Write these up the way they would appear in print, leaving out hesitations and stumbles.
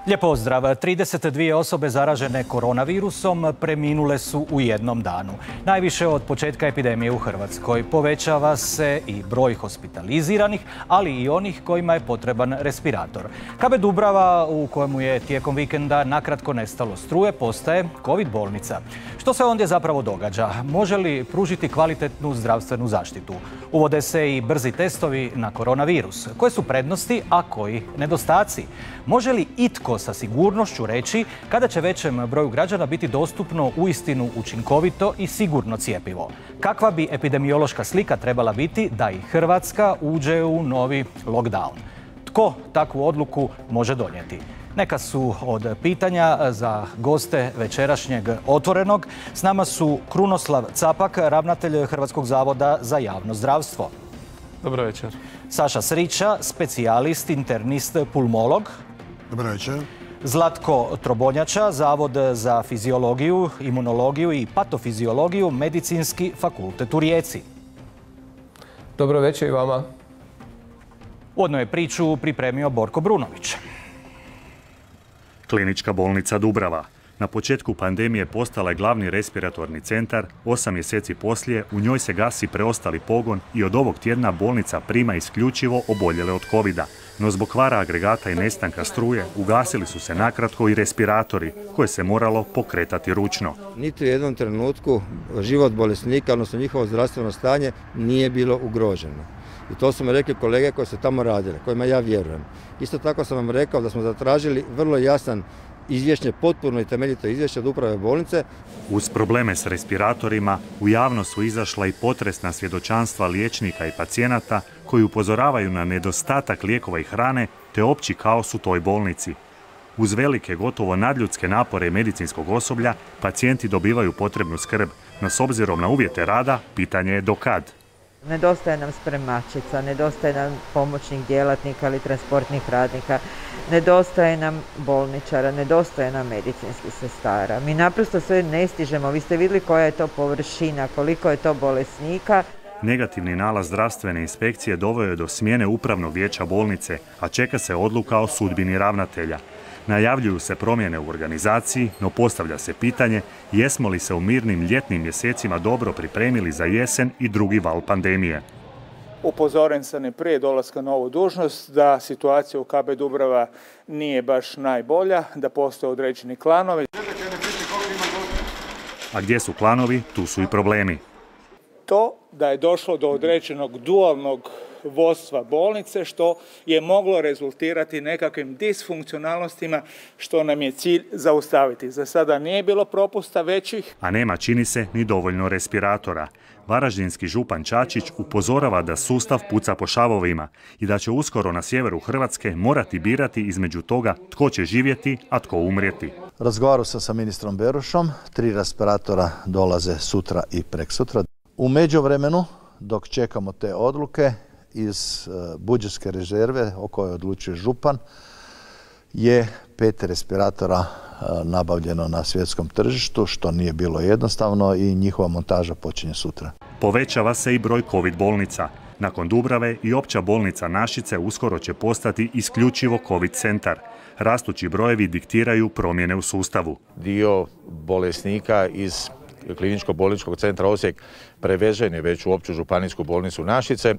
Lijep pozdrav. 32 osobe zaražene koronavirusom preminule su u jednom danu. Najviše od početka epidemije u Hrvatskoj. Povećava se i broj hospitaliziranih, ali i onih kojima je potreban respirator. KB Dubrava, u kojemu je tijekom vikenda nakratko nestalo struje, postaje COVID bolnica. Što se ondje zapravo događa? Može li pružiti kvalitetnu zdravstvenu zaštitu? Uvode se i brzi testovi na koronavirus. Koje su prednosti, a koji nedostaci? Može li itko sa sigurnošću reći kada će većem broju građana biti dostupno uistinu učinkovito i sigurno cjepivo? Kakva bi epidemiološka slika trebala biti da i Hrvatska uđe u novi lockdown? Tko takvu odluku može donijeti? Neka su od pitanja za goste večerašnjeg Otvorenog. S nama su Krunoslav Capak, ravnatelj Hrvatskog zavoda za javno zdravstvo. Dobro večer. Saša Srića, specijalist, internist, pulmolog. Dobro večer. Zlatko Trobonjača, Zavod za fiziologiju, imunologiju i patofiziologiju, Medicinski fakultet u Rijeci. Dobro večer i vama. Uvodno je priču pripremio Borko Brunović. Klinička bolnica Dubrava. Na početku pandemije postala je glavni respiratorni centar. 8 mjeseci poslije u njoj se gasi preostali pogon i od ovog tjedna bolnica prima isključivo oboljele od covida. No zbog kvara agregata i nestanka struje ugasili su se nakratko i respiratori koje se moralo pokretati ručno. Niti u jednom trenutku život bolesnika, odnosno njihovo zdravstveno stanje, nije bilo ugroženo. I to su mi rekli kolege koji su tamo radili, kojima ja vjerujem. Isto tako sam vam rekao da smo zatražili vrlo jasan izvješće, potpuno i temeljito izvješće od uprave bolnice. Uz probleme s respiratorima u javnost su izašla i potresna svjedočanstva liječnika i pacijenata koji upozoravaju na nedostatak lijekova i hrane te opći kaos u toj bolnici. Uz velike, gotovo nadljudske napore medicinskog osoblja, pacijenti dobivaju potrebnu skrb, no s obzirom na uvjete rada, pitanje je do kad. Nedostaje nam spremačica, nedostaje nam pomoćnih djelatnika ili transportnih radnika, nedostaje nam bolničara, nedostaje nam medicinskih sestara. Mi naprosto sve ne stižemo. Vi ste vidjeli koja je to površina, koliko je to bolesnika. Negativni nalaz zdravstvene inspekcije doveo je do smjene upravnog vijeća bolnice, a čeka se odluka o sudbini ravnatelja. Najavljuju se promjene u organizaciji, no postavlja se pitanje jesmo li se u mirnim ljetnim mjesecima dobro pripremili za jesen i drugi val pandemije. Upozoren sam i prije dolaska na ovu dužnost da situacija u KB Dubrava nije baš najbolja, da postoje određeni klanovi. A gdje su klanovi, tu su i problemi. To da je došlo do određenog dualnog vodstva bolnice, što je moglo rezultirati nekakvim disfunkcionalnostima, što nam je cilj zaustaviti. Za sada nije bilo propusta većih. A nema, čini se, ni dovoljno respiratora. Varaždinski župan Čačić upozorava da sustav puca po šavovima i da će uskoro na sjeveru Hrvatske morati birati između toga tko će živjeti, a tko umrijeti. Razgovarao sam sa ministrom Berošom, 3 respiratora dolaze sutra i preksutra. U međuvremenu, dok čekamo te odluke, iz budžetske rezerve o kojoj odlučuje župan je 5 respiratora nabavljeno na svjetskom tržištu, što nije bilo jednostavno i njihova montaža počinje sutra. Povećava se i broj COVID bolnica. Nakon Dubrave i opća bolnica Našice uskoro će postati isključivo COVID centar. Rastući brojevi diktiraju promjene u sustavu. Dio bolesnika iz Kliničkog bolničkog centra Osijek prevežen je već u opću županijsku bolnicu Našice,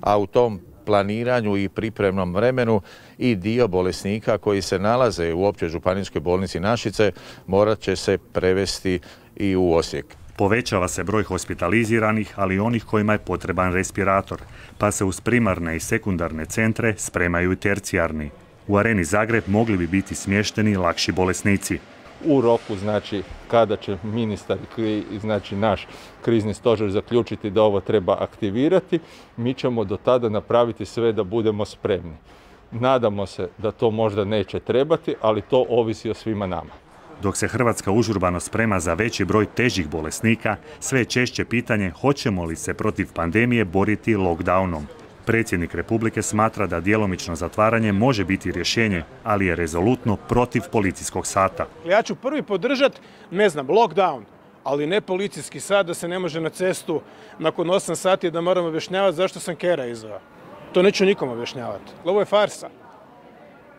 a u tom planiranju i pripremnom vremenu i dio bolesnika koji se nalaze u općoj županijskoj bolnici Našice morat će se prevesti i u Osijek. Povećava se broj hospitaliziranih, ali i onih kojima je potreban respirator, pa se uz primarne i sekundarne centre spremaju i tercijarni. U Areni Zagreb mogli bi biti smješteni lakši bolesnici. U roku, znači, kada će ministar, znači naš krizni stožer zaključiti da ovo treba aktivirati, mi ćemo do tada napraviti sve da budemo spremni. Nadamo se da to možda neće trebati, ali to ovisi o svima nama. Dok se Hrvatska užurbano sprema za veći broj težih bolesnika, sve je češće pitanje hoćemo li se protiv pandemije boriti lockdownom. Predsjednik Republike smatra da djelomično zatvaranje može biti rješenje, ali je rezolutno protiv policijskog sata. Ja ću prvi podržati, lockdown, ali ne policijski sat da se ne može na cestu nakon 8 sati da moram objašnjavati zašto sam kera izveo. To neću nikom objašnjavati. Ovo je farsa.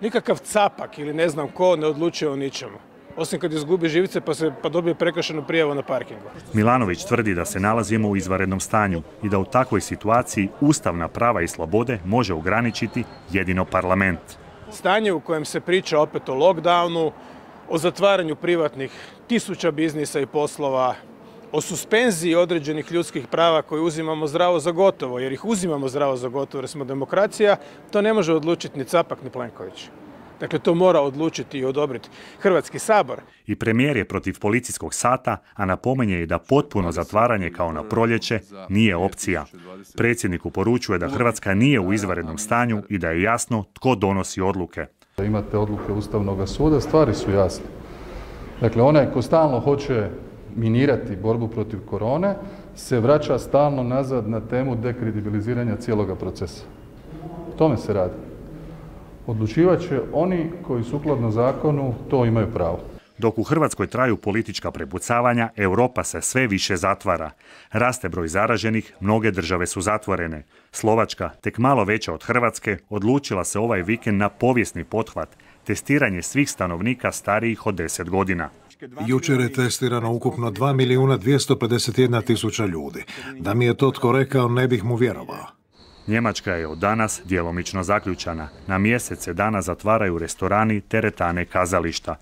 Nikakav Capak ili ne znam ko ne odlučuje o ničemu. Osim kad izgubi živice pa dobije prekršajnu prijavu na parkingu. Milanović tvrdi da se nalazimo u izvanrednom stanju i da u takvoj situaciji ustavna prava i slobode može ograničiti jedino parlament. Stanje u kojem se priča opet o lockdownu, o zatvaranju privatnih tisuća biznisa i poslova, o suspenziji određenih ljudskih prava koje uzimamo zdravo za gotovo, jer ih uzimamo zdravo za gotovo jer smo demokracija, to ne može odlučiti ni Capak ni Plenković. Dakle, to mora odlučiti i odobriti Hrvatski sabor. I premijer je protiv policijskog sata, a napominje i da potpuno zatvaranje kao na proljeće nije opcija. Predsjedniku poručuje da Hrvatska nije u izvanrednom stanju i da je jasno tko donosi odluke. Imate odluke Ustavnog suda, stvari su jasne. Dakle, onaj ko stalno hoće minirati borbu protiv korone se vraća stalno nazad na temu dekredibiliziranja cijeloga procesa. O tome se radi. Odlučivat će oni koji sukladno zakonu to imaju pravo. Dok u Hrvatskoj traju politička prepucavanja, Europa se sve više zatvara. Raste broj zaraženih, mnoge države su zatvorene. Slovačka, tek malo veća od Hrvatske, odlučila se ovaj vikend na povijesni pothvat, testiranje svih stanovnika starijih od 10 godina. Jučer je testirano ukupno 2.251.000 ljudi. Da mi je to tko rekao, ne bih mu vjerovao. Njemačka je od danas djelomično zaključana. Na mjesec se dana zatvaraju restorani, teretane, kazališta.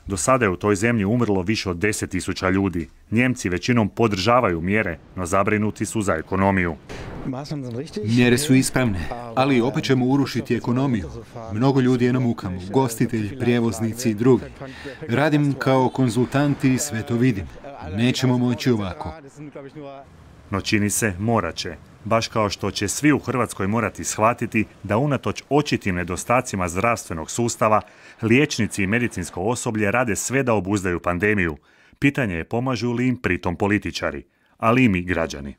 Do sada je u toj zemlji umrlo više od 10.000 ljudi. Njemci većinom podržavaju mjere, no zabrinuti su za ekonomiju. Mjere su ispravne, ali opet ćemo urušiti ekonomiju. Mnogo ljudi je na mukama, ugostitelji, prijevoznici i drugi. Radim kao konzultant i sve to vidim. Nećemo moći ovako. No čini se morat će. Baš kao što će svi u Hrvatskoj morati shvatiti da unatoč očitim nedostacima zdravstvenog sustava, liječnici i medicinsko osoblje rade sve da obuzdaju pandemiju. Pitanje je pomažu li im pritom političari, ali i mi građani.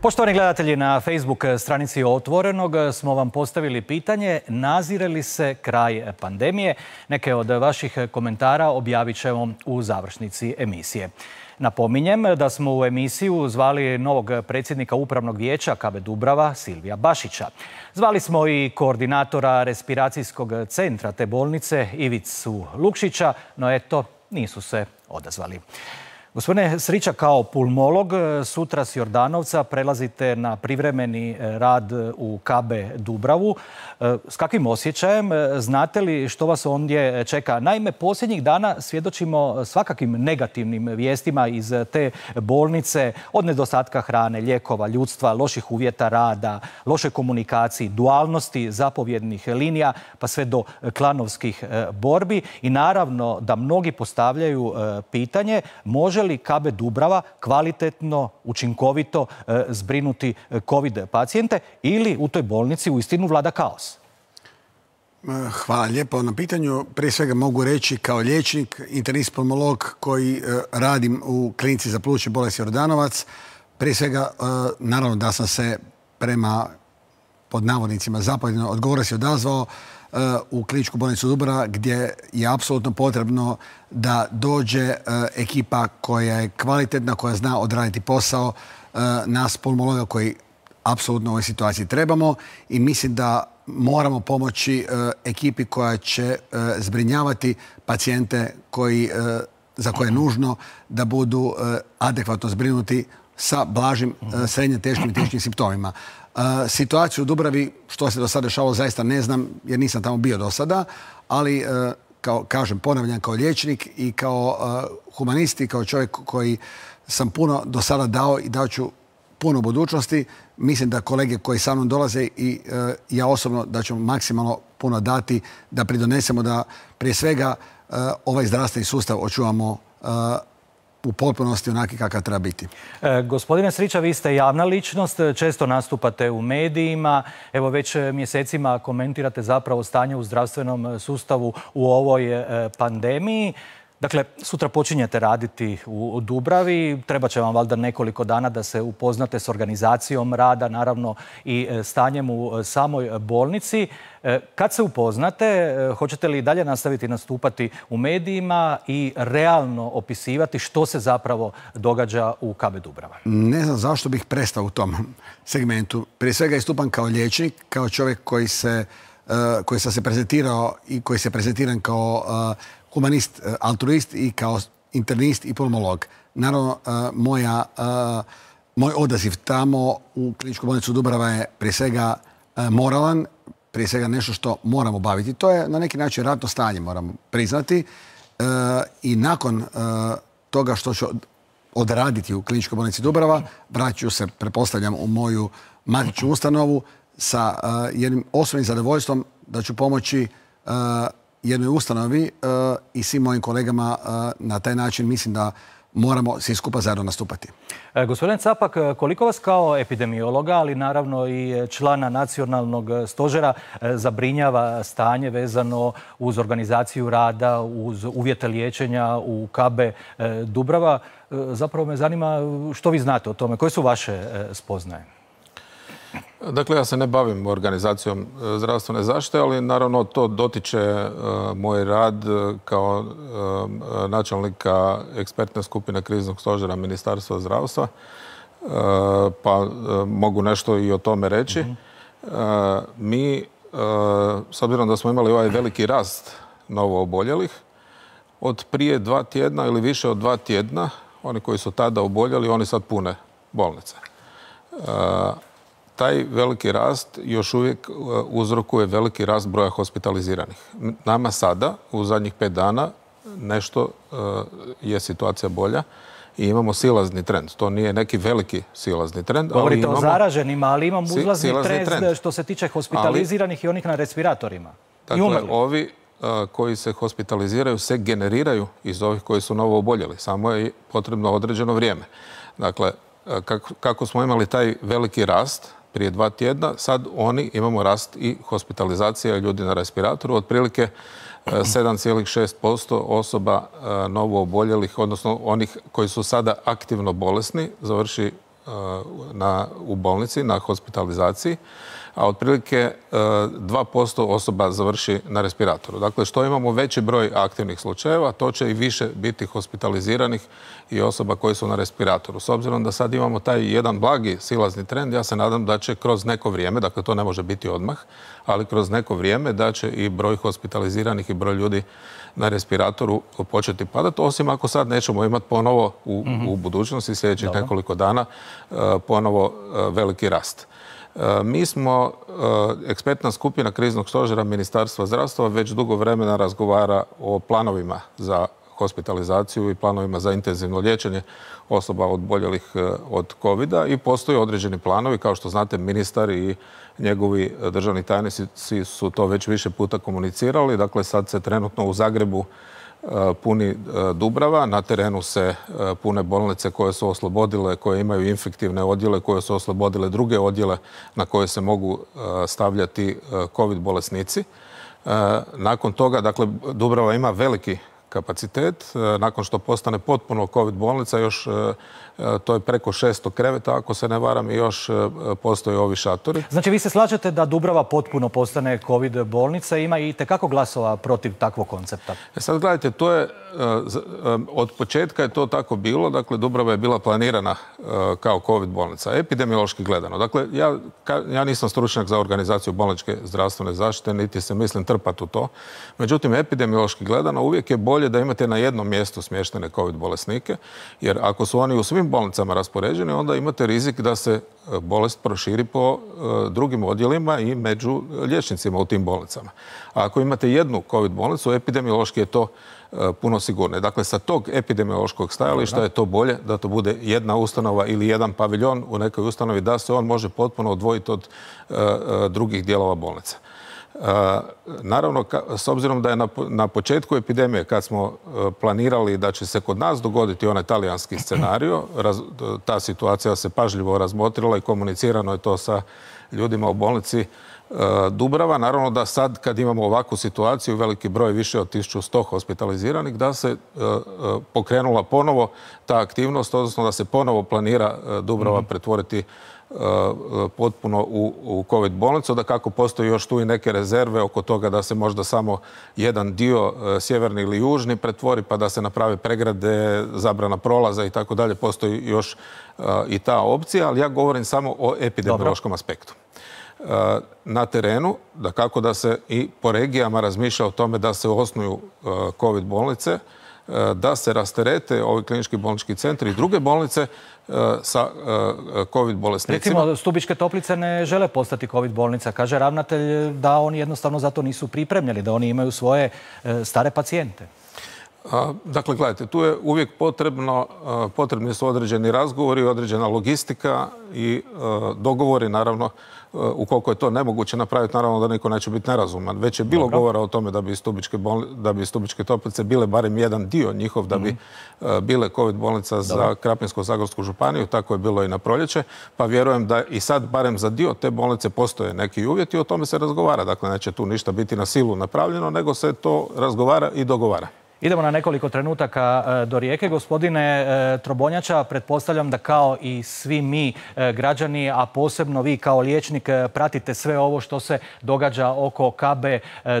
Poštovani gledatelji, na Facebook stranici Otvorenog smo vam postavili pitanje nazire li se kraj pandemije. Neke od vaših komentara objavit ćemo u završnici emisije. Napominjem da smo u emisiju zvali novog predsjednika Upravnog vijeća KB Dubrava, Silvija Bašića. Zvali smo i koordinatora respiracijskog centra te bolnice, Ivicu Lukšića, no eto, nisu se odazvali. Gospodine Srića, kao pulmolog, sutra s Jordanovca prelazite na privremeni rad u KB Dubravu. S kakvim osjećajem? Znate li što vas ondje čeka? Naime, posljednjih dana svjedočimo svakakim negativnim vijestima iz te bolnice, od nedostatka hrane, lijekova, ljudstva, loših uvjeta rada, loše komunikaciji, dualnosti zapovjednih linija, pa sve do klanovskih borbi. I naravno da mnogi postavljaju pitanje može li KB Dubrava kvalitetno, učinkovito zbrinuti COVID pacijente ili u toj bolnici uistinu vlada kaos? Hvala lijepo na pitanju. Prije svega mogu reći kao liječnik, internist pulmolog koji radim u klinici za plućne bolesti Jordanovac. Prije svega, naravno da sam se prema pod navodnicima zapovjedno odgovora se odazvao u kliničku bolnicu Dubrava gdje je apsolutno potrebno da dođe ekipa koja je kvalitetna, koja zna odraditi posao, nas pulmologa koji apsolutno u ovoj situaciji trebamo i mislim da moramo pomoći ekipi koja će zbrinjavati pacijente za koje je nužno da budu adekvatno zbrinuti sa blažim, srednje teškim i teškim simptomima. Situaciju u Dubravi, što se do sada dešavalo, zaista ne znam jer nisam tamo bio do sada, ali kažem, ponavljam, kao liječnik i kao humanist i kao čovjek koji sam puno do sada dao i dao ću puno u budućnosti. Mislim da kolege koji sa mnom dolaze i ja osobno da ću maksimalno puno dati da pridonesemo da prije svega ovaj zdravstveni sustav očuvamo u potpunosti onaki kakav treba biti. Gospodine Srića, vi ste javna ličnost, često nastupate u medijima. Evo već mjesecima komentirate zapravo stanje u zdravstvenom sustavu u ovoj pandemiji. Dakle, sutra počinjete raditi u Dubravi. Treba će vam valjda nekoliko dana da se upoznate s organizacijom rada, naravno i stanjem u samoj bolnici. Kad se upoznate, hoćete li dalje nastaviti nastupati u medijima i realno opisivati što se zapravo događa u KB Dubrava? Ne znam zašto bih prestao u tom segmentu. Prije svega istupam kao liječnik, kao čovjek koji sam se prezentirao i koji se prezentiran kao humanist, altruist i kao internist i pulmolog. Naravno, moj odaziv tamo u kliničku bolnicu Dubrava je prije svega moralan, prije svega nešto što moramo baviti. To je na neki način ratno stanje, moramo priznati. I nakon toga što ću odraditi u kliničkoj bolnici Dubrava, vraću se, pretpostavljam, u moju matičnu ustanovu sa jednim osobnim zadovoljstvom da ću pomoći jednoj ustanovi i svim mojim kolegama na taj način. Mislim da moramo svi skupa zajedno nastupati. Gospodin Capak, koliko vas kao epidemiologa, ali naravno i člana nacionalnog stožera, zabrinjava stanje vezano uz organizaciju rada, uz uvjete liječenja u KB Dubrava? Zapravo me zanima što vi znate o tome, koje su vaše spoznaje? Dakle, ja se ne bavim organizacijom zdravstvene zaštite, ali naravno to dotiče moj rad kao načelnika ekspertne skupine kriznog stožera Ministarstva zdravstva, pa mogu nešto i o tome reći. Mi, s obzirom da smo imali ovaj veliki rast novo oboljelih, od prije 2 tjedna ili više od 2 tjedna, oni koji su tada oboljeli, oni sad pune bolnice. Taj veliki rast još uvijek uzrokuje veliki rast broja hospitaliziranih. Nama sada, u zadnjih 5 dana, nešto je situacija bolja i imamo silazni trend. To nije neki veliki silazni trend. Govorite o zaraženima, ali imamo uzlazni trend što se tiče hospitaliziranih i onih na respiratorima. Dakle, ovi koji se hospitaliziraju se generiraju iz ovih koji su novo oboljeli. Samo je potrebno određeno vrijeme. Dakle, kako smo imali taj veliki rast prije 2 tjedna, sad imamo rast i hospitalizacija ljudi na respiratoru. Otprilike 7,6% osoba novo oboljelih, odnosno onih koji su sada aktivno bolesni, završi u bolnici na hospitalizaciji, a otprilike 2% osoba završi na respiratoru. Dakle, što imamo veći broj aktivnih slučajeva, to će i više biti hospitaliziranih i osoba koji su na respiratoru. S obzirom da sad imamo taj jedan blagi silazni trend, ja se nadam da će kroz neko vrijeme, dakle to ne može biti odmah, ali kroz neko vrijeme da će i broj hospitaliziranih i broj ljudi na respiratoru početi padati, osim ako sad nećemo imati ponovo u budućnosti sljedećih nekoliko dana ponovo veliki rast. Mi smo, ekspertna skupina kriznog stožera Ministarstva zdravstva, već dugo vremena razgovara o planovima za hospitalizaciju i planovima za intenzivno liječenje osoba oboljelih od COVID-a i postoje određeni planovi. Kao što znate, ministar i njegovi državni tajnici su to već više puta komunicirali. Dakle, sad se trenutno u Zagrebu puni Dubrava, na terenu se pune bolnice koje su oslobodile, koje imaju infektivne odjele, koje su oslobodile druge odjele na koje se mogu stavljati COVID bolesnici. Nakon toga, dakle, Dubrava ima veliki kapacitet. Nakon što postane potpuno COVID bolnica, još to je preko 600 kreveta, ako se ne varam, i još postoje ovi šatori. Znači, vi se slažete da Dubrava potpuno postane COVID bolnica, ima i itekako glasova protiv takvog koncepta? Sad gledajte, to je, od početka je to tako bilo, dakle, Dubrava je bila planirana kao COVID bolnica, epidemiološki gledano. Dakle, ja nisam stručnjak za organizaciju bolničke zdravstvene zaštite, niti se mislim trpati u to. Međutim, epidemiološki gledano uvijek je bolje da imate na jednom mjestu smještene COVID bolesnike, jer ako su oni u svim bolnicama raspoređeni, onda imate rizik da se bolest proširi po drugim odjelima i među liječnicima u tim bolnicama. A ako imate jednu COVID bolnicu, epidemiološki je to puno sigurnije. Dakle, sa tog epidemiološkog stajališta je to bolje da to bude jedna ustanova ili jedan paviljon u nekoj ustanovi, da se on može potpuno odvojiti od drugih dijelova bolnice. Naravno, s obzirom da je na početku epidemije, kad smo planirali da će se kod nas dogoditi onaj talijanski scenario, ta situacija se pažljivo razmotrila i komunicirano je to sa ljudima u bolnici Dubrava. Naravno da sad kad imamo ovakvu situaciju, veliki broj, više od 1100 hospitaliziranih, da se pokrenula ponovo ta aktivnost, odnosno da se ponovo planira Dubrava pretvoriti potpuno u COVID bolnicu, da kako postoji još tu i neke rezerve oko toga da se možda samo jedan dio sjeverni ili južni pretvori, pa da se naprave pregrade, zabrana prolaza i tako dalje. Postoji još i ta opcija, ali ja govorim samo o epidemiološkom aspektu. Na terenu, da kako da se i po regijama razmišlja o tome da se osnuju COVID bolnice, da se rasterete ovi klinički bolnički centri i druge bolnice sa COVID bolesnicima. Recimo, Stubičke Toplice ne žele postati COVID bolnica. Kaže ravnatelj da oni jednostavno za to nisu pripremljeni, da oni imaju svoje stare pacijente. Dakle, gledajte, tu je uvijek potrebni su određeni razgovori, određena logistika i dogovori, naravno, ukoliko je to nemoguće napraviti, naravno da niko neće biti nerazuman. Već je bilo govora o tome da bi Stubičke Toplice bile barem jedan dio njihov, da bi bile COVID bolnica za Krapinsko-zagorsku županiju, tako je bilo i na proljeće, pa vjerujem da i sad barem za dio te bolnice postoje neki uvjeti i o tome se razgovara. Dakle, neće tu ništa biti na silu napravljeno, nego se to razgovara i dogovara. Idemo na nekoliko trenutaka do Rijeke. Gospodine Trobonjača, pretpostavljam da kao i svi mi građani, a posebno vi kao liječnik, pratite sve ovo što se događa oko KB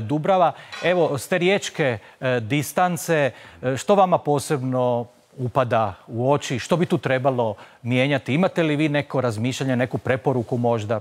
Dubrava. Evo, s te riječke distance, što vama posebno upada u oči? Što bi tu trebalo mijenjati? Imate li vi neko razmišljanje, neku preporuku možda?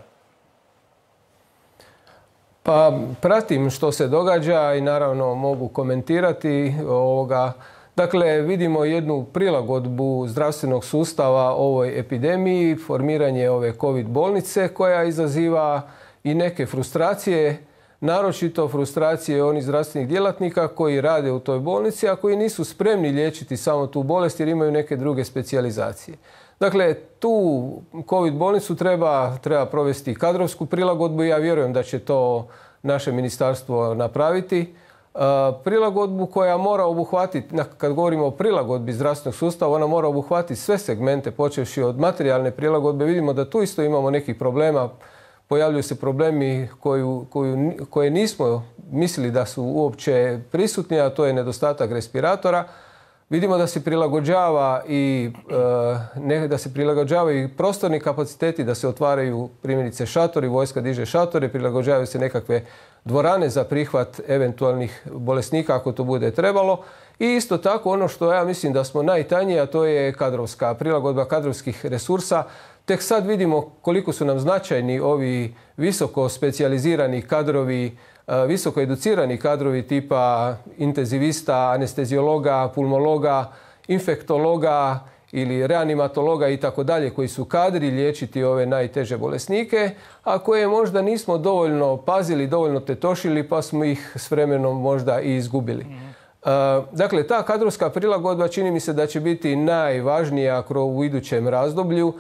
Pa pratim što se događa i naravno mogu komentirati ovoga. Dakle, vidimo jednu prilagodbu zdravstvenog sustava ovoj epidemiji, formiranje ove COVID bolnice koja izaziva i neke frustracije, naročito frustracije onih zdravstvenih djelatnika koji rade u toj bolnici, a koji nisu spremni liječiti samo tu bolest jer imaju neke druge specijalizacije. Dakle, tu COVID bolnicu treba provesti kadrovsku prilagodbu i ja vjerujem da će to naše ministarstvo napraviti. Prilagodbu koja mora obuhvatiti, kad govorimo o prilagodbi zdravstvenog sustava, ona mora obuhvatiti sve segmente, počevši od materijalne prilagodbe. Vidimo da tu isto imamo nekih problema. Pojavljuju se problemi koje nismo mislili da su uopće prisutni, a to je nedostatak respiratora. Vidimo da se prilagođavaju i prostorni kapaciteti, da se otvaraju primjerice šatori, vojska diže šatore, prilagođavaju se nekakve dvorane za prihvat eventualnih bolesnika ako to bude trebalo. I isto tako ono što ja mislim da smo najtanji, a to je prilagodba kadrovskih resursa. Tek sad vidimo koliko su nam značajni ovi visoko specijalizirani kadrovi, visoko educirani kadrovi tipa intenzivista, anesteziologa, pulmologa, infektologa ili reanimatologa i tako dalje, koji su kadri liječiti ove najteže bolesnike, a koje možda nismo dovoljno pazili, dovoljno tetošili, pa smo ih s vremenom možda i izgubili. Dakle, ta kadrovska prilagodba čini mi se da će biti najvažnija u idućem razdoblju,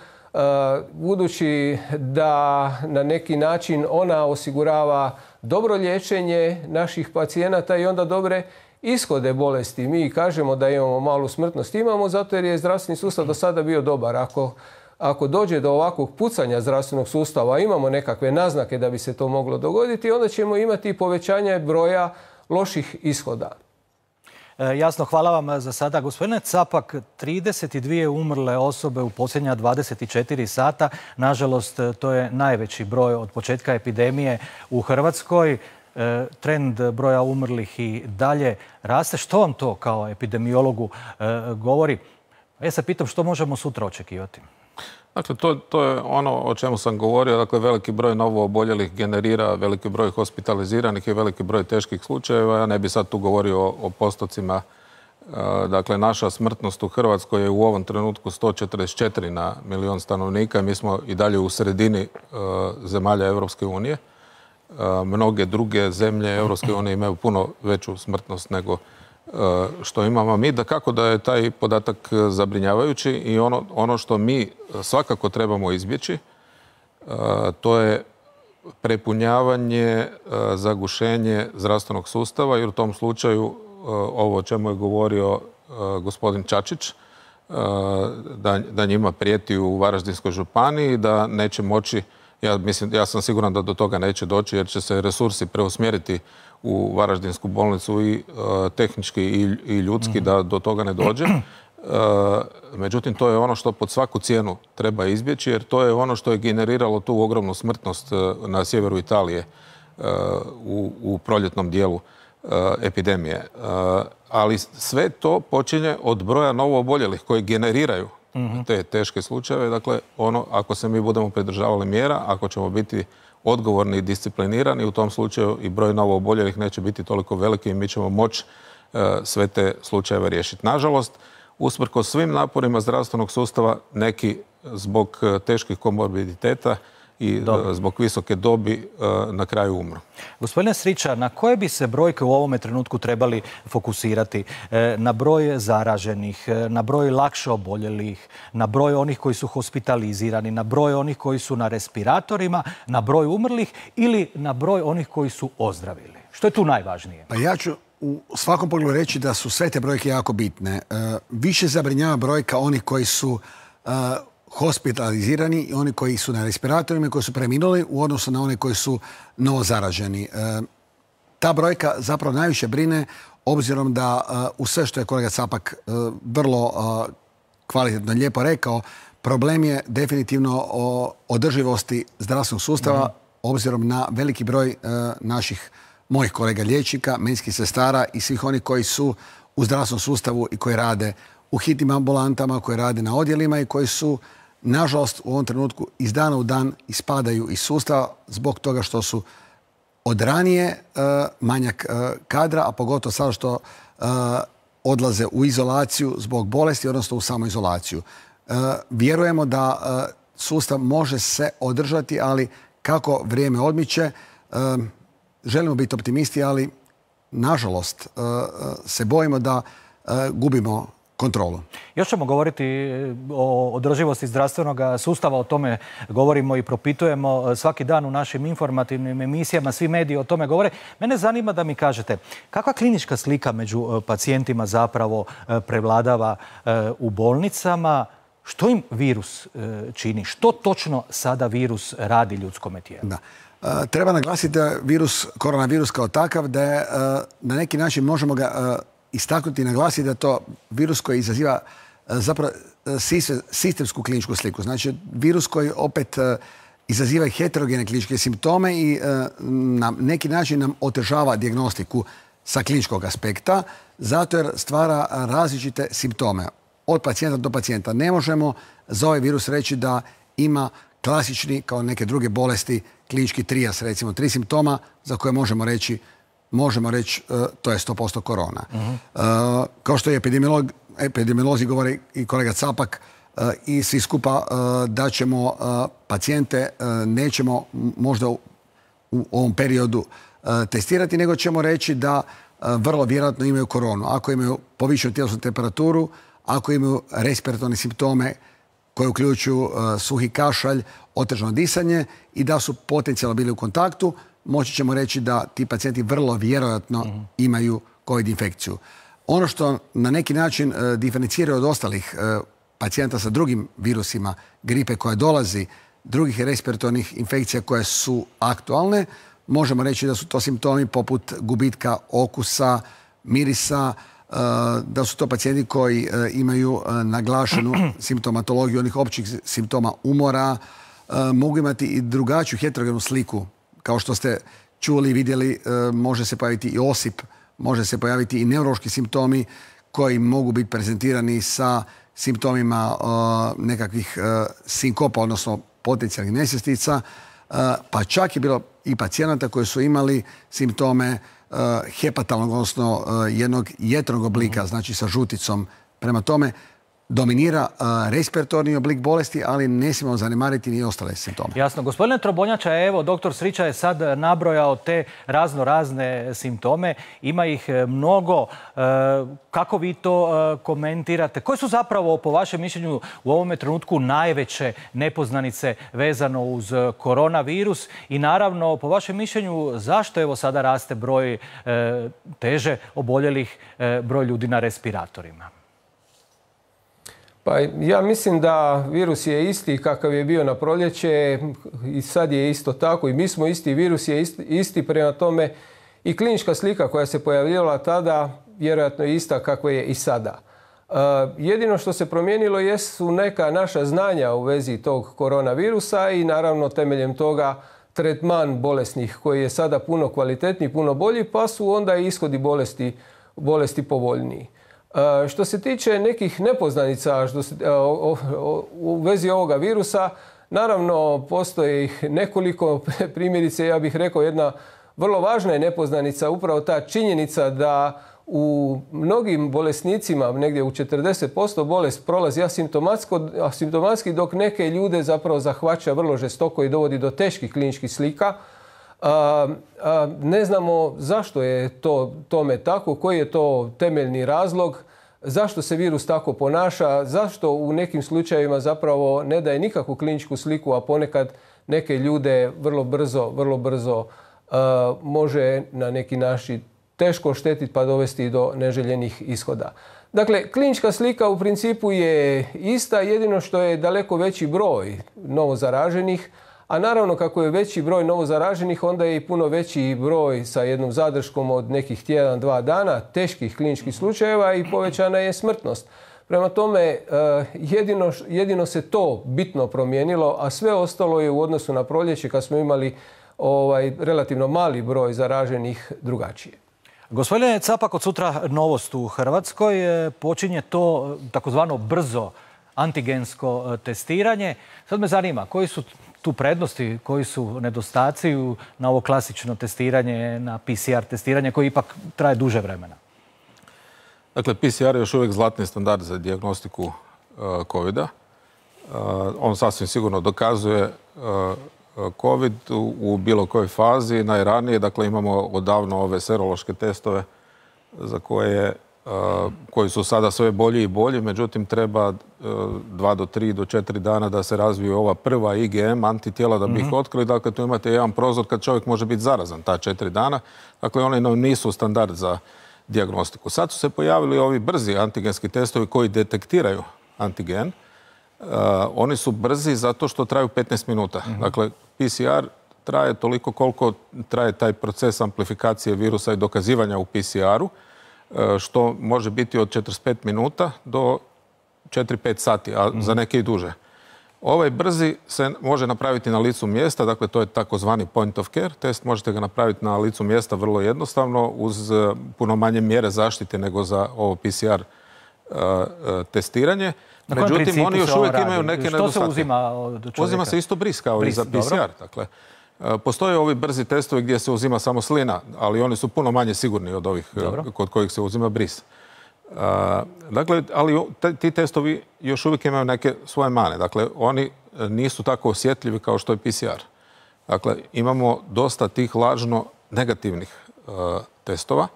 budući da na neki način ona osigurava dobro liječenje naših pacijenata i onda dobre ishode bolesti. Mi kažemo da imamo malu smrtnost, imamo zato jer je zdravstveni sustav do sada bio dobar. Ako dođe do ovakvog pucanja zdravstvenog sustava, imamo nekakve naznake da bi se to moglo dogoditi, onda ćemo imati povećanje broja loših ishoda. Jasno, hvala vam za sada. Gospodine Capak, 32 umrle osobe u posljednja 24 sata. Nažalost, to je najveći broj od početka epidemije u Hrvatskoj. Trend broja umrlih i dalje raste. Što vam to kao epidemiologu govori? Ja se pitam što možemo sutra očekivati. Dakle, to je ono o čemu sam govorio. Dakle, veliki broj novo oboljelih generira veliki broj hospitaliziranih i veliki broj teških slučajeva. Ja ne bi sad tu govorio o postocima. Dakle, naša smrtnost u Hrvatskoj je u ovom trenutku 144 na milion stanovnika. Mi smo i dalje u sredini zemalja Europske unije. Mnoge druge zemlje Europske unije imaju puno veću smrtnost nego što imamo mi. Dakako da je taj podatak zabrinjavajući i ono što mi svakako trebamo izbjeći, to je prepunjavanje, zagušenje zdravstvenog sustava, jer u tom slučaju ovo o čemu je govorio gospodin Čačić, da njima prijeti u Varaždinskoj županiji, da neće moći Ja sam siguran da do toga neće doći jer će se resursi preusmjeriti u Varaždinsku bolnicu i tehnički i ljudski da do toga ne dođe. Međutim, to je ono što pod svaku cijenu treba izbjeći jer to je ono što je generiralo tu ogromnu smrtnost na sjeveru Italije u proljetnom dijelu epidemije. Ali sve to počinje od broja novooboljelih koji generiraju te teške slučajeve. Dakle, ako se mi budemo pridržavali mjera, ako ćemo biti odgovorni i disciplinirani, u tom slučaju i broj novooboljelih neće biti toliko veliki i mi ćemo moći sve te slučajeve riješiti. Nažalost, usprkos svim naporima zdravstvenog sustava, neki zbog teških komorbiditeta i zbog visoke dobi na kraju umru. Gospodine Srića, na koje bi se brojke u ovome trenutku trebali fokusirati? Na broj zaraženih, na broj lakše oboljelih, na broj onih koji su hospitalizirani, na broj onih koji su na respiratorima, na broj umrlih ili na broj onih koji su ozdravili? Što je tu najvažnije? Pa ja ću u svakom pogledu reći da su sve te brojke jako bitne. Više zabrinjava brojka onih koji su hospitalizirani i oni koji su na respiratorima i koji su preminuli u odnosu na one koji su novo zaraženi. Ta brojka zapravo najviše brine obzirom da u sve što je kolega Capak vrlo kvalitetno lijepo rekao, problem je definitivno o održivosti zdravstvenog sustava obzirom na veliki broj mojih kolega liječnika, medicinskih sestara i svih onih koji su u zdravstvenom sustavu i koji rade u hitnim ambulantama, koji rade na odjelima i koji su, nažalost, u ovom trenutku iz dana u dan ispadaju iz sustava zbog toga što su od ranije manjak kadra, a pogotovo sada što odlaze u izolaciju zbog bolesti, odnosno u samoizolaciju. Vjerujemo da sustav može se održati, ali kako vrijeme odmiče, želimo biti optimisti, ali nažalost se bojimo da gubimo kontrolu. Još ćemo govoriti o održivosti zdravstvenog sustava, o tome govorimo i propitujemo svaki dan u našim informativnim emisijama, svi mediji o tome govore. Mene zanima da mi kažete kakva klinička slika među pacijentima zapravo prevladava u bolnicama, što im virus čini, što točno sada virus radi ljudskome tijelu? Treba naglasiti da koronavirus kao takav, da je na neki način možemo ga istaknuti i naglasiti da je to virus koji izaziva zapravo sistemsku kliničku sliku. Znači, virus koji opet izaziva heterogene kliničke simptome i na neki način nam otežava dijagnostiku sa kliničkog aspekta, zato jer stvara različite simptome. Od pacijenta do pacijenta. Ne možemo za ovaj virus reći da ima klasični, kao neke druge bolesti, klinički trijas, recimo 3 simptoma za koje možemo reći to je 100% korona. Kao što je epidemiolozi govore i kolega Capak i svi skupa da ćemo pacijente nećemo možda u ovom periodu testirati, nego ćemo reći da vrlo vjerojatno imaju koronu. Ako imaju povišenu tjelesnu temperaturu, ako imaju respiratorne simptome koje uključuju suhi kašalj, otežano disanje i da su potencijalno bili u kontaktu, moći ćemo reći da ti pacijenti vrlo vjerojatno imaju COVID infekciju. Ono što na neki način diferencira od ostalih pacijenta sa drugim virusima, gripe koja dolazi, drugih respiratornih infekcija koje su aktualne, možemo reći da su to simptomi poput gubitka okusa, mirisa, da su to pacijenti koji imaju naglašenu simptomatologiju onih općih simptoma umora, mogu imati i drugačiju heterogenu sliku. Kao što ste čuli i vidjeli, može se pojaviti i osip, može se pojaviti i neurološki simptomi koji mogu biti prezentirani sa simptomima nekakvih sinkopa, odnosno potencijalnih nesvjestica, pa čak je bilo i pacijenata koji su imali simptome hepatalnog, odnosno jednog jetrnog oblika, znači sa žuticom. Prema tome, dominira respiratorni oblik bolesti, ali ne smijemo zanemariti ni ostale simptome. Jasno. Gospodine Trobonjača, evo, doktor Srića je sad nabrojao te razne simptome. Ima ih mnogo. Kako vi to komentirate? Koje su zapravo, po vašem mišljenju, u ovome trenutku najveće nepoznanice vezano uz koronavirus? I naravno, po vašem mišljenju, zašto evo sada raste broj teže oboljelih, broj ljudi na respiratorima? Pa ja mislim da virus je isti kakav je bio na proljeće i sad je isto tako i mi smo isti, virus je isti, prema tome i klinička slika koja se pojavljivala tada vjerojatno je ista kakva je i sada. Jedino što se promijenilo jesu neka naša znanja u vezi tog koronavirusa i naravno temeljem toga tretman bolesnih koji je sada puno kvalitetniji, puno bolji, pa su onda i ishodi bolesti povoljniji. Što se tiče nekih nepoznanica u vezi ovoga virusa, naravno postoji ih nekoliko, primjerice ja bih rekao jedna vrlo važna je nepoznanica upravo ta činjenica da u mnogim bolesnicima, negdje u 40% bolest prolazi asimptomatski, dok neke ljude zapravo zahvaća vrlo žestoko i dovodi do teških kliničkih slika. Ne znamo zašto je tome tako, koji je to temeljni razlog, zašto se virus tako ponaša, zašto u nekim slučajevima zapravo ne daje nikakvu kliničku sliku, a ponekad neke ljude vrlo brzo može na neki način teško oštetiti pa dovesti do neželjenih ishoda. Dakle, klinička slika u principu je ista, jedino što je daleko veći broj novozaraženih, a naravno kako je veći broj novozaraženih, onda je i puno veći broj sa jednom zadrškom od nekih tjedan, 2 dana, teških kliničkih slučajeva i povećana je smrtnost. Prema tome, jedino se to bitno promijenilo, a sve ostalo je u odnosu na proljeće kad smo imali relativno mali broj zaraženih drugačije. Gospodine Capak, od sutra novost u Hrvatskoj. Počinje to takozvano brzo antigensko testiranje. Sad me zanima, koji su tu prednosti, koji su nedostaci na ovo klasično testiranje, na PCR testiranje koje ipak traje duže vremena? Dakle, PCR je još uvijek zlatni standard za dijagnostiku COVID-a. On sasvim sigurno dokazuje COVID u bilo kojoj fazi, najranije. Dakle, imamo odavno ove serološke testove za koji su sada sve bolji i bolji, međutim treba 2 do 3 do 4 dana da se razviju ova prva IgM antitijela da bi ih otkrili. Dakle, tu imate jedan prozor kad čovjek može biti zarazan ta 4 dana. Dakle, oni nisu standard za dijagnostiku. Sad su se pojavili ovi brzi antigenski testovi koji detektiraju antigen. Oni su brzi zato što traju 15 minuta. Dakle, PCR traje toliko koliko traje taj proces amplifikacije virusa i dokazivanja u PCR-u, što može biti od 45 minuta do 4-5 sati, a za neke i duže. Ovaj brzi se može napraviti na licu mjesta, dakle to je takozvani point of care test, možete ga napraviti na licu mjesta vrlo jednostavno uz puno manje mjere zaštite nego za ovo PCR testiranje. Međutim, oni još uvijek imaju neke nedostatke. Što se uzima od čovjeka? Uzima se isto bris kao i za PCR. Dakle, postoje ovi brzi testovi gdje se uzima samo slina, ali oni su puno manje sigurni od ovih kod kojih se uzima bris. Dakle, ali ti testovi još uvijek imaju neke svoje mane. Dakle, oni nisu tako osjetljivi kao što je PCR. Dakle, imamo dosta tih lažno negativnih testova.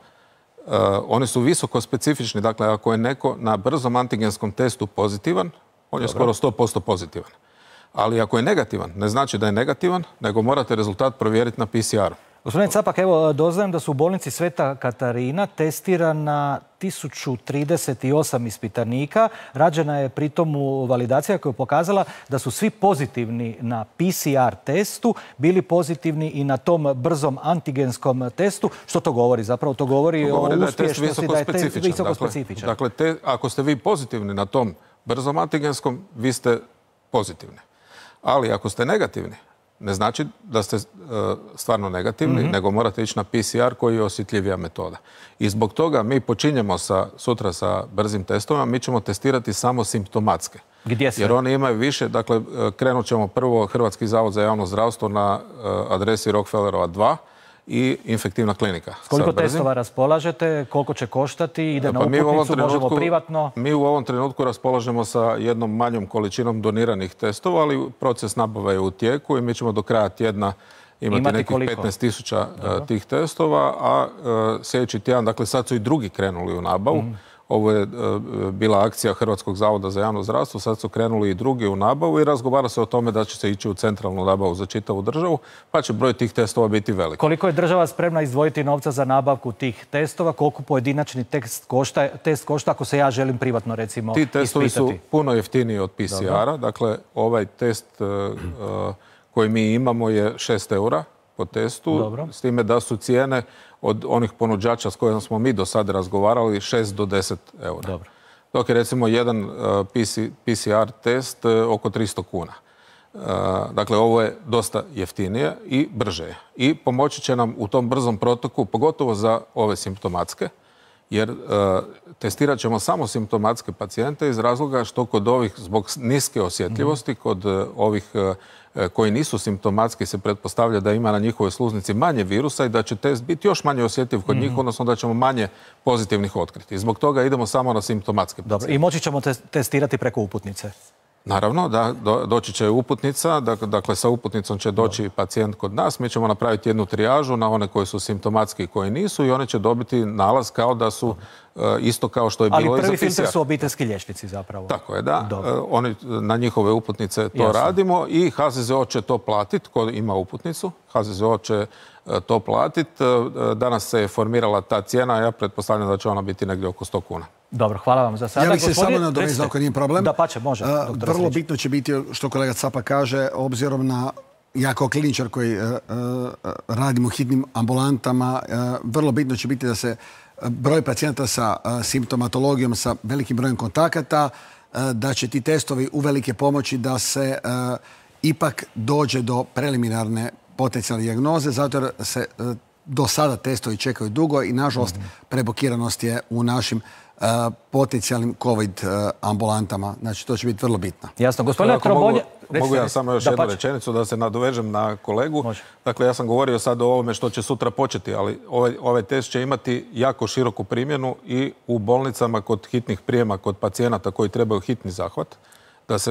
Oni su visoko specifični. Dakle, ako je neko na brzom antigenskom testu pozitivan, on je skoro 100% pozitivan. Ali ako je negativan, ne znači da je negativan, nego morate rezultat provjeriti na PCR-u. Gospodine Capak, evo doznajem da su u bolnici Sveta Katarina testirana 1038 ispitanika. Rađena je pritom validacija koja je pokazala da su svi pozitivni na PCR testu, bili pozitivni i na tom brzom antigenskom testu. Što to govori? Zapravo to govori o uspješnosti, da je test visoko specifičan. Dakle, ako ste vi pozitivni na tom brzom antigenskom, vi ste pozitivni. Ali ako ste negativni, ne znači da ste stvarno negativni, nego morate ići na PCR koji je osjetljivija metoda. I zbog toga mi počinjemo sutra sa brzim testovima, mi ćemo testirati samo simptomatske. Gdje se? Jer oni imaju više, dakle, krenut ćemo prvo Hrvatski zavod za javno zdravstvo na adresi Rockefellerova 2 i infektivna klinika. S koliko testova raspolažete, koliko će koštati, ide na uputnicu, možemo privatno? Mi u ovom trenutku raspolažemo sa jednom manjom količinom doniranih testova, ali proces nabave je u tijeku i mi ćemo do kraja tjedna imati nekih 15.000 tih testova, a sljedeći tjedan, dakle sad su i drugi krenuli u nabavu, ovo je bila akcija Hrvatskog zavoda za javno zdravstvo, sad su krenuli i drugi u nabavu i razgovara se o tome da će se ići u centralnu nabavu za čitavu državu, pa će broj tih testova biti velik. Koliko je država spremna izdvojiti novca za nabavku tih testova? Koliko pojedinačni test košta ako se ja želim privatno recimo ispitati? Ti testovi su puno jeftiniji od PCR-a. Dakle, ovaj test koji mi imamo je 6 eura po testu, s time da su cijene od onih ponuđača s kojima smo mi do sada razgovarali 6 do 10 eura. Dobro. Dok je recimo jedan PCR test oko 300 kuna. Dakle, ovo je dosta jeftinije i brže. I pomoći će nam u tom brzom protoku, pogotovo za ove simptomatske, jer testirat ćemo samo simptomatske pacijente iz razloga što kod ovih, zbog niske osjetljivosti, kod ovih koji nisu simptomatski se pretpostavlja da ima na njihovoj sluznici manje virusa i da će test biti još manje osjetljiv kod njih, odnosno da ćemo manje pozitivnih otkriti. Zbog toga idemo samo na simptomatske pacijente. Dobro. I moći ćemo testirati preko uputnice? Naravno, da, doći će uputnica, dakle sa uputnicom će doći pacijent kod nas, mi ćemo napraviti jednu trijažu na one koji su simptomatski i koji nisu i one će dobiti nalaz kao da su isto kao što je bilo i za PCR. Ali prvi filter su obiteljski liječnici zapravo. Tako je, da. Oni, na njihove uputnice to radimo i HZZO će to platiti, ko ima uputnicu, HZZO će to platiti. Danas se je formirala ta cijena, ja pretpostavljam da će ona biti negdje oko 100 kuna. Dobro, hvala vam za sada. Ja bih se samo nadovezao ako nije problem. Da, pače, može. Vrlo bitno će biti, što kolega Capak kaže, obzirom na, ja kao kliničar koji radim u hitnim ambulantama, vrlo bitno će biti da se broj pacijenta sa simptomatologijom, sa velikim brojem kontakata, da će ti testovi uvelike pomoći da se ipak dođe do preliminarne potencijalne dijagnoze, zato jer se do sada testovi čekaju dugo i nažalost prebokiranost je u našim potencijalnim COVID ambulantama. Znači, to će biti vrlo bitno. Jasno. Gospodine Trobonja... Mogu ja samo još jednu rečenicu da se nadovežem na kolegu. Dakle, ja sam govorio sad o ovome što će sutra početi, ali ovaj test će imati jako široku primjenu i u bolnicama kod hitnih prijema, kod pacijenata koji trebaju hitni zahvat,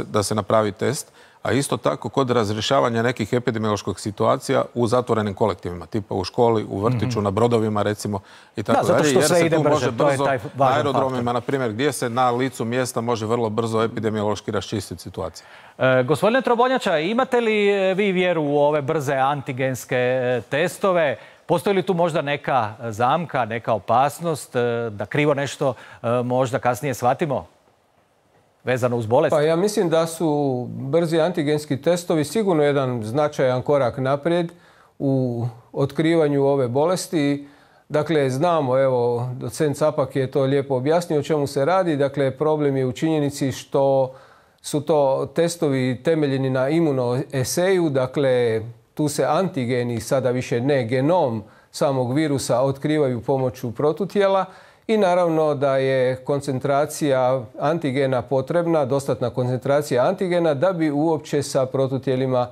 da se napravi test. A isto tako kod razrješavanja nekih epidemioloških situacija u zatvorenim kolektivima, tipa u školi, u vrtiću, na brodovima recimo i tako dalje. Jer se tu može brzo na aerodromima, na primjer, gdje se na licu mjesta može vrlo brzo epidemiološki raščistiti situacija. Gospodine Trobonjača, imate li vi vjeru u ove brze antigenske testove? Postoji li tu možda neka zamka, neka opasnost da krivo nešto možda kasnije shvatimo? Vezano uz bolest? Pa ja mislim da su brzi antigenski testovi sigurno jedan značajan korak naprijed u otkrivanju ove bolesti. Dakle, znamo, evo, docent Capak je to lijepo objasnio o čemu se radi. Dakle, problem je u činjenici što su to testovi temeljeni na imunoeseju. Dakle, tu se antigeni, sada više ne genom samog virusa, otkrivaju pomoću protutijela. I naravno da je koncentracija antigena potrebna, dostatna koncentracija antigena da bi uopće sa protutijelima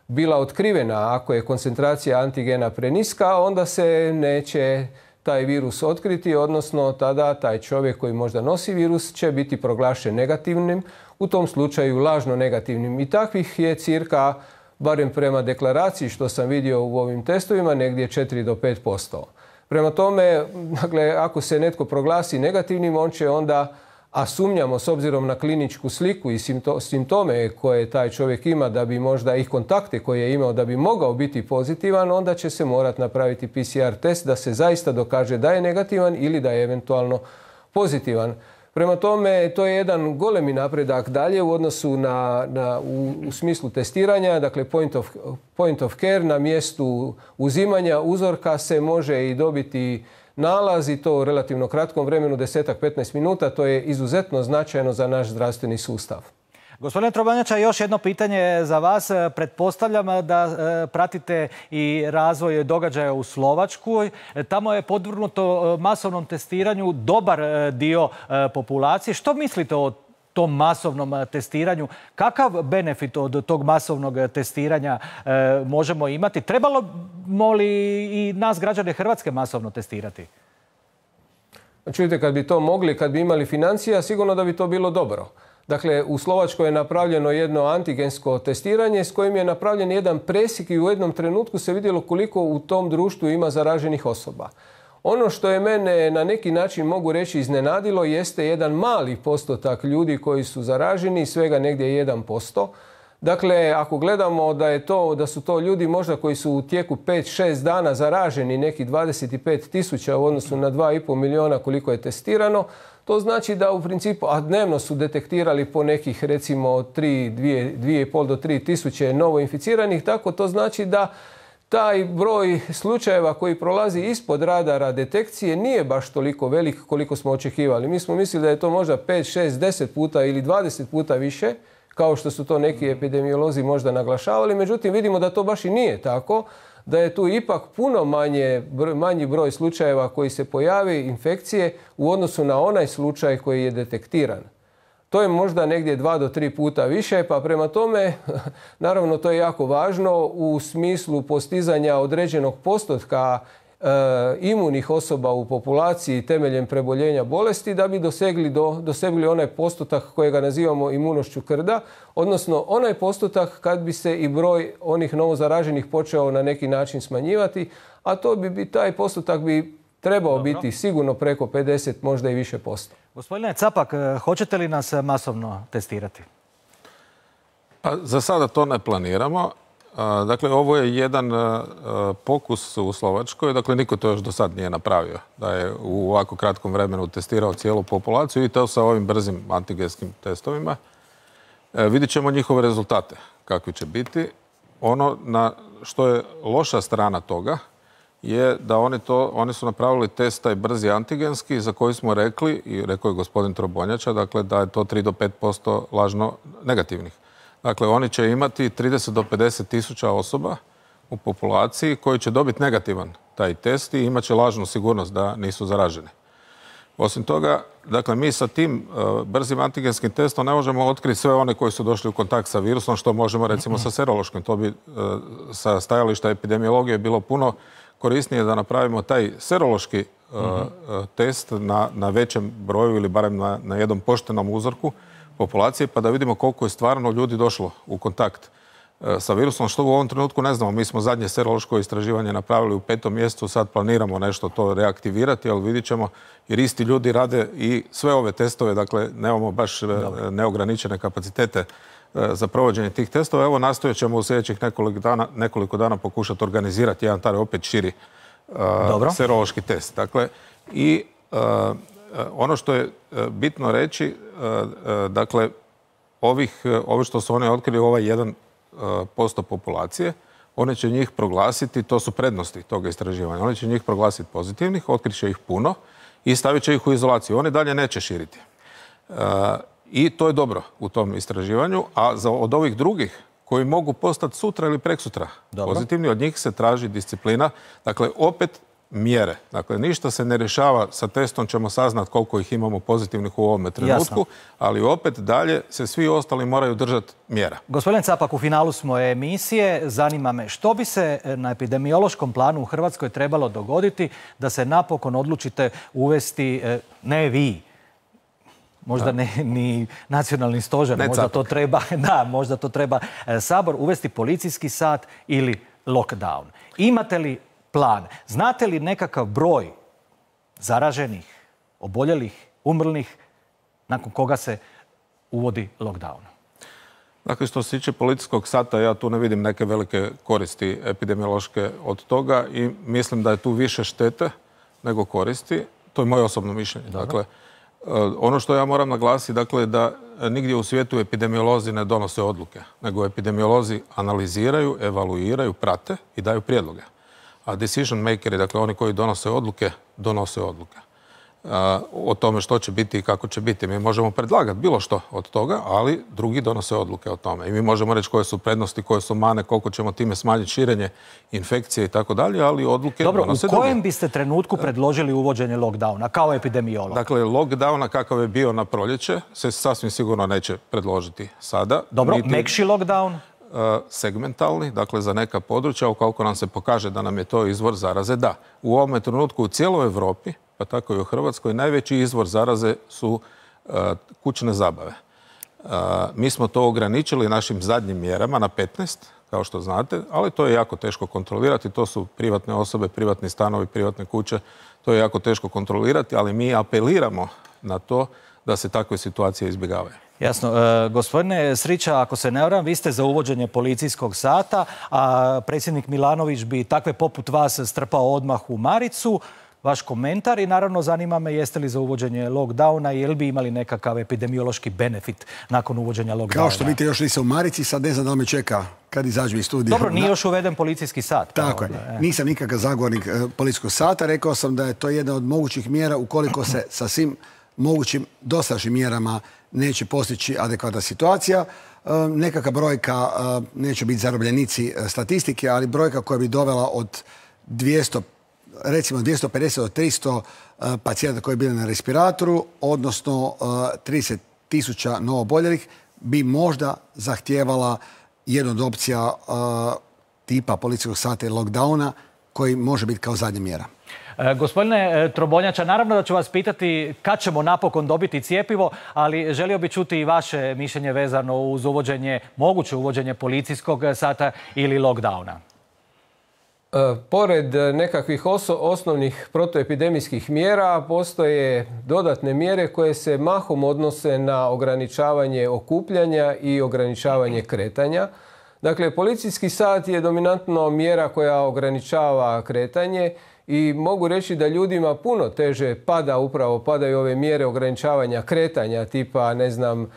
bila otkrivena. Ako je koncentracija antigena preniska, onda se neće taj virus otkriti, odnosno tada taj čovjek koji možda nosi virus će biti proglašen negativnim, u tom slučaju lažno negativnim. I takvih je cirka, barem prema deklaraciji što sam vidio u ovim testovima, negdje 4 do 5%. Prema tome, dakle, ako se netko proglasi negativnim, on će onda, a sumnjamo s obzirom na kliničku sliku i simptome koje taj čovjek ima, da bi možda i kontakte koje je imao da bi mogao biti pozitivan, onda će se morati napraviti PCR test da se zaista dokaže da je negativan ili da je eventualno pozitivan. Prema tome, to je jedan golemi napredak dalje u odnosu u smislu testiranja. Dakle, point of care, na mjestu uzimanja uzorka se može i dobiti nalaz i to u relativno kratkom vremenu, 10-15 minuta. To je izuzetno značajno za naš zdravstveni sustav. Gospodine Trobonjača, još jedno pitanje za vas. Pretpostavljam da pratite i razvoj događaja u Slovačkoj. Tamo je podvrgnuto masovnom testiranju dobar dio populacije. Što mislite o tom masovnom testiranju? Kakav benefit od tog masovnog testiranja možemo imati? Trebalo li i nas, građane Hrvatske, masovno testirati? Čujte, kad bi to mogli, kad bi imali financija, sigurno da bi to bilo dobro. Dakle, u Slovačkoj je napravljeno jedno antigensko testiranje s kojim je napravljen jedan presjek i u jednom trenutku se vidjelo koliko u tom društvu ima zaraženih osoba. Ono što je mene na neki način, mogu reći, iznenadilo jeste jedan mali postotak ljudi koji su zaraženi, svega negdje 1%. Dakle, ako gledamo da su to ljudi možda koji su u tijeku 5-6 dana zaraženi, neki 25.000 u odnosu na 2,5 milijuna koliko je testirano, to znači da u principu, a dnevno su detektirali po nekih recimo 2,5 do 3.000 novo inficiranih, tako to znači da taj broj slučajeva koji prolazi ispod radara detekcije nije baš toliko velik koliko smo očekivali. Mi smo mislili da je to možda 5, 6, 10 puta ili 20 puta više, kao što su to neki epidemiolozi možda naglašavali. Međutim, vidimo da to baš i nije tako, da je tu ipak puno manji broj slučajeva koji se pojavi, infekcije, u odnosu na onaj slučaj koji je detektiran. To je možda negdje 2 do 3 puta više, pa prema tome, naravno to je jako važno u smislu postizanja određenog postotka imunih osoba u populaciji temeljem preboljenja bolesti, da bi dosegli onaj postotak kojega nazivamo imunošću krda, odnosno onaj postotak kad bi se i broj onih novozaraženih počeo na neki način smanjivati, a taj postotak bi trebao biti sigurno preko 50, možda i više posto. Gospodine Capak, hoćete li nas masovno testirati? Pa, za sada to ne planiramo. Dakle, ovo je jedan pokus u Slovačkoj. Dakle, niko to još do sad nije napravio. Da je u ovako kratkom vremenu testirao cijelu populaciju i to sa ovim brzim antigenskim testovima. Vidjet ćemo njihove rezultate, kakvi će biti. Ono na što je loša strana toga je da oni su napravili test taj brzi antigenski za koji smo rekli, i rekao je gospodin Trobonjača, dakle da je to 3 do 5% lažno negativnih. Dakle, oni će imati 30 do 50 tisuća osoba u populaciji koji će dobiti negativan taj test i imat će lažnu sigurnost da nisu zaraženi. Osim toga, dakle, mi sa tim brzim antigenskim testom ne možemo otkriti sve one koji su došli u kontakt sa virusom, što možemo recimo sa serološkim. To bi sa stajališta epidemiologije bilo puno korisnije da napravimo taj serološki test na većem broju ili barem na jednom poštenom uzorku populacije, pa da vidimo koliko je stvarno ljudi došlo u kontakt sa virusom, što u ovom trenutku ne znamo. Mi smo zadnje serološko istraživanje napravili u 5. mjesecu, sad planiramo nešto to reaktivirati, ali vidjet ćemo, jer isti ljudi rade i sve ove testove, dakle nemamo baš neograničene kapacitete za provođenje tih testova. Evo, nastojat ćemo u sljedećih nekoliko dana pokušati organizirati jedan taj opet širi serološki test. Dakle, i ono što je bitno reći, dakle, ovi što su oni otkrili, ovaj 1% populacije, oni će njih proglasiti, to su prednosti toga istraživanja, oni će njih proglasiti pozitivnih, otkriće ih puno i stavit će ih u izolaciju. Oni dalje neće širiti. I to je dobro u tom istraživanju, a od ovih drugih koji mogu postati sutra ili preksutra pozitivni, od njih se traži disciplina. Dakle, opet mjere. Dakle, ništa se ne rješava sa testom, ćemo saznat koliko ih imamo pozitivnih u ovome trenutku, ali opet dalje se svi ostali moraju držati mjera. Gospodin Capak, u finalu smo emisije. Zanima me što bi se na epidemiološkom planu u Hrvatskoj trebalo dogoditi da se napokon odlučite uvesti, ne vi, možda ni nacionalni stožer, možda to treba Sabor, uvesti policijski sat ili lockdown. Imate li plan? Znate li nekakav broj zaraženih, oboljelih, umrlih, nakon koga se uvodi lockdown? Dakle, što se tiče policijskog sata, ja tu ne vidim neke velike koristi epidemiološke od toga i mislim da je tu više štete nego koristi. To je moje osobno mišljenje. Dakle, ono što ja moram naglasiti, dakle, da nigdje u svijetu epidemiolozi ne donose odluke, nego epidemiolozi analiziraju, evaluiraju, prate i daju prijedloge. A decision makeri, dakle oni koji donose odluke o tome što će biti i kako će biti. Mi možemo predlagati bilo što od toga, ali drugi donose odluke o tome. I mi možemo reći koje su prednosti, koje su mane, koliko ćemo time smanjiti širenje infekcije i tako dalje, ali odluke donose drugi. U kojem biste trenutku predložili uvođenje lockdowna kao epidemiolog? Dakle, lockdowna kakav je bio na proljeće se sasvim sigurno neće predložiti sada. Dobro, mekši lockdown? Segmentalni, dakle za neka područja, ukoliko nam se pokaže da nam je to izvor zaraze, da. U ovome trenutku u cijeloj Europi, pa tako i u Hrvatskoj, najveći izvor zaraze su kućne zabave. Mi smo to ograničili našim zadnjim mjerama na 15, kao što znate, ali to je jako teško kontrolirati. To su privatne osobe, privatni stanovi, privatne kuće. To je jako teško kontrolirati, ali mi apeliramo na to da se takve situacije izbjegavaju. Jasno. Gospodine Srića, ako se ne varam, vi ste za uvođenje policijskog sata, a predsjednik Milanović bi takve poput vas strpao odmah u maricu. Vaš komentar i naravno zanima me jeste li za uvođenje lockdowna i je li bi imali nekakav epidemiološki benefit nakon uvođenja lockdowna? Kao što vidite, još nisam u marici, sad ne znam da li me čeka kad izađu iz studija. Dobro, nije još uveden policijski sat. Tako je. Nisam nikakav zagovornik policijskog sata. Rekao sam da je to jedna od mogućih mjera ukoliko se sa svim mogućim dosadašnjim mjerama neće postići adekvatna situacija. Nekakva brojka, neće biti zarobljenici statistike, ali brojka koja bi dovela od 200, recimo 250 do 300 pacijenta koji bili na respiratoru, odnosno 30.000 novooboljelih, bi možda zahtijevala jednu od opcija tipa policijskog sata i lockdowna koji može biti kao zadnja mjera. Gospodine Trobonjača, naravno da ću vas pitati kad ćemo napokon dobiti cjepivo, ali želio bih čuti i vaše mišljenje vezano uz moguće uvođenje policijskog sata ili lockdowna. Pored nekakvih osnovnih protuepidemijskih mjera postoje dodatne mjere koje se mahom odnose na ograničavanje okupljanja i ograničavanje kretanja. Dakle, policijski sat je dominantno mjera koja ograničava kretanje i mogu reći da ljudima puno teže padaju ove mjere ograničavanja kretanja, tipa, ne znam,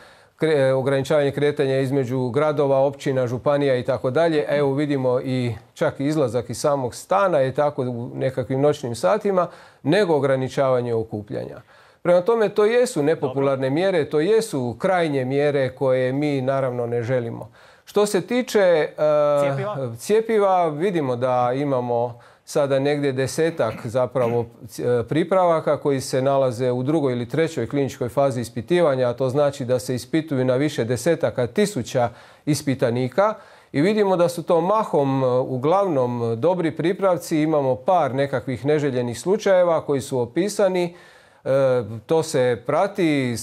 ograničavanje kretanja između gradova, općina, županija i tako dalje. Evo vidimo i čak izlazak iz samog stana je tako u nekakvim noćnim satima, nego ograničavanje okupljanja. Prema tome, to jesu nepopularne mjere, to jesu krajnje mjere koje mi naravno ne želimo. Što se tiče cjepiva, vidimo da imamo sada negdje 10-ak zapravo pripravaka koji se nalaze u 2. ili 3. kliničkoj fazi ispitivanja, a to znači da se ispituju na više desetaka tisuća ispitanika i vidimo da su to mahom uglavnom dobri pripravci, imamo par nekakvih neželjenih slučajeva koji su opisani. To se prati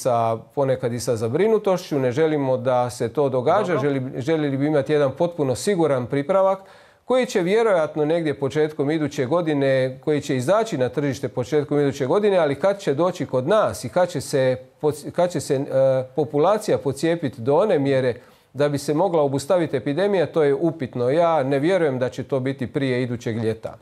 ponekad i sa zabrinutošću, ne želimo da se to događa, željeli bi imati jedan potpuno siguran pripravak koji će vjerojatno negdje početkom iduće godine, koji će izaći na tržište početkom iduće godine, ali kad će doći kod nas i kad će se populacija pocijepiti do one mjere da bi se mogla obustaviti epidemija, to je upitno. Ja ne vjerujem da će to biti prije idućeg ljeta.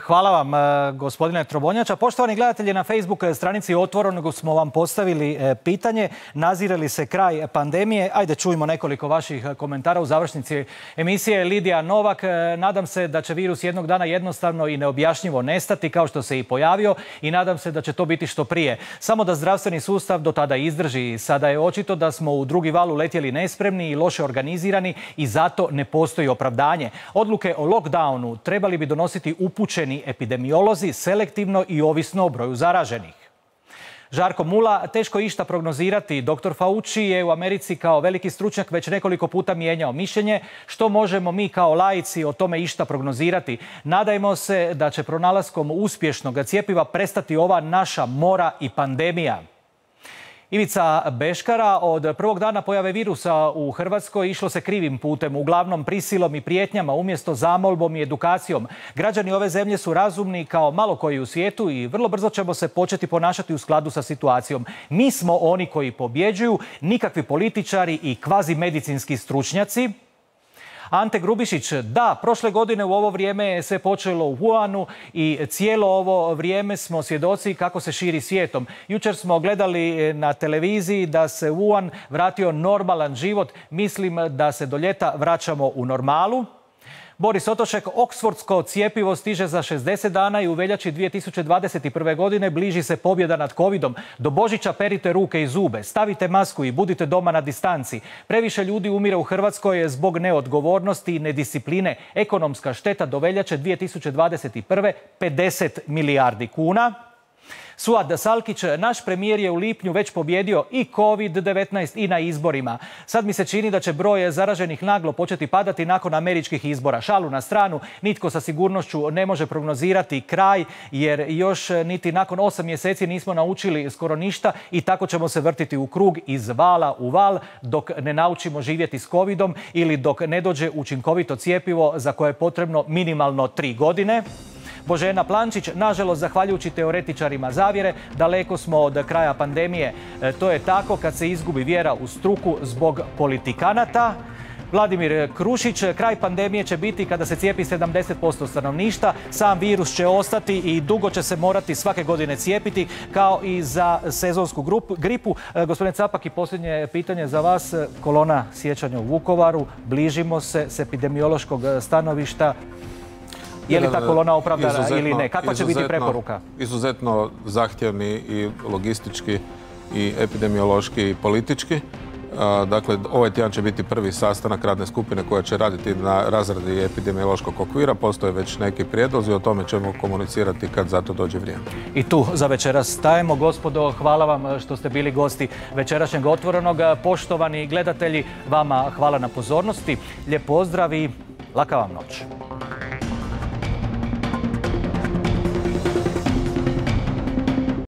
Hvala vam, gospodine Trobonjača. Poštovani gledatelji, na Facebook stranici Otvorenog smo vam postavili pitanje. Nazire li se kraj pandemije? Ajde, čujmo nekoliko vaših komentara u završnici emisije. Lidija Novak, nadam se da će virus jednog dana jednostavno i neobjašnjivo nestati kao što se i pojavio i nadam se da će to biti što prije. Samo da zdravstveni sustav do tada izdrži. Sada je očito da smo u drugi val uletjeli nespremni i loše organizirani i zato ne postoji opravdanje. Odluke o lockdownu trebali bi donositi upućeni epidemiolozi selektivno i ovisno o broju zaraženih. Žarko Mula, teško išta prognozirati. Dr. Fauci je u Americi kao veliki stručnjak već nekoliko puta mijenjao mišljenje. Što možemo mi kao laici o tome išta prognozirati? Nadajmo se da će pronalaskom uspješnog cjepiva prestati ova naša mora i pandemija. Ivica Beškara, od prvog dana pojave virusa u Hrvatskoj išlo se krivim putem, uglavnom prisilom i prijetnjama umjesto zamolbom i edukacijom. Građani ove zemlje su razumni kao malo koji u svijetu i vrlo brzo ćemo se početi ponašati u skladu sa situacijom. Mi smo oni koji pobjeđuju, nikakvi političari i kvazi medicinski stručnjaci. Ante Grubišić, da, prošle godine u ovo vrijeme je sve počelo u Wuhanu i cijelo ovo vrijeme smo svjedoci kako se širi svijetom. Jučer smo gledali na televiziji da se Wuhan vratio normalan život. Mislim da se do ljeta vraćamo u normalu. Boris Otošek, oksfordsko cjepivo stiže za 60 dana i u veljači 2021. godine bliži se pobjeda nad covidom. Do Božića perite ruke i zube, stavite masku i budite doma na distanci. Previše ljudi umire u Hrvatskoj zbog neodgovornosti i nediscipline. Ekonomska šteta do veljače 2021. 50 milijardi kuna. Suad Salkić, naš premijer je u lipnju već pobjedio i COVID-19 i na izborima. Sad mi se čini da će broj zaraženih naglo početi padati nakon američkih izbora. Šalu na stranu, nitko sa sigurnošću ne može prognozirati kraj, jer još niti nakon 8 mjeseci nismo naučili skoro ništa i tako ćemo se vrtiti u krug iz vala u val dok ne naučimo živjeti s covidom ili dok ne dođe učinkovito cjepivo za koje je potrebno minimalno 3 godine. Božena Plančić, nažalost, zahvaljujući teoretičarima zavjere, daleko smo od kraja pandemije. To je tako kad se izgubi vjera u struku zbog politikanata. Vladimir Krušić, kraj pandemije će biti kada se cijepi 70% stanovništva. Sam virus će ostati i dugo će se morati svake godine cijepiti, kao i za sezonsku gripu. Gospodine Capak, i posljednje pitanje za vas. Kolona sjećanja u Vukovaru. Bližimo se s epidemiološkog stanovišta. Je li ta kolona opravdana ili ne? Kakva će biti preporuka? Izuzetno zahtjevni i logistički i epidemiološki i politički. Dakle, ovaj tjedan će biti prvi sastanak radne skupine koja će raditi na razradi epidemiološkog okvira. Postoje već neki prijedlozi, o tome ćemo komunicirati kad za to dođe vrijeme. I tu za večeras stajemo. Gospodo, hvala vam što ste bili gosti večerašnjeg Otvorenog. Poštovani gledatelji, vama hvala na pozornosti. Lijep pozdrav i laka vam noć.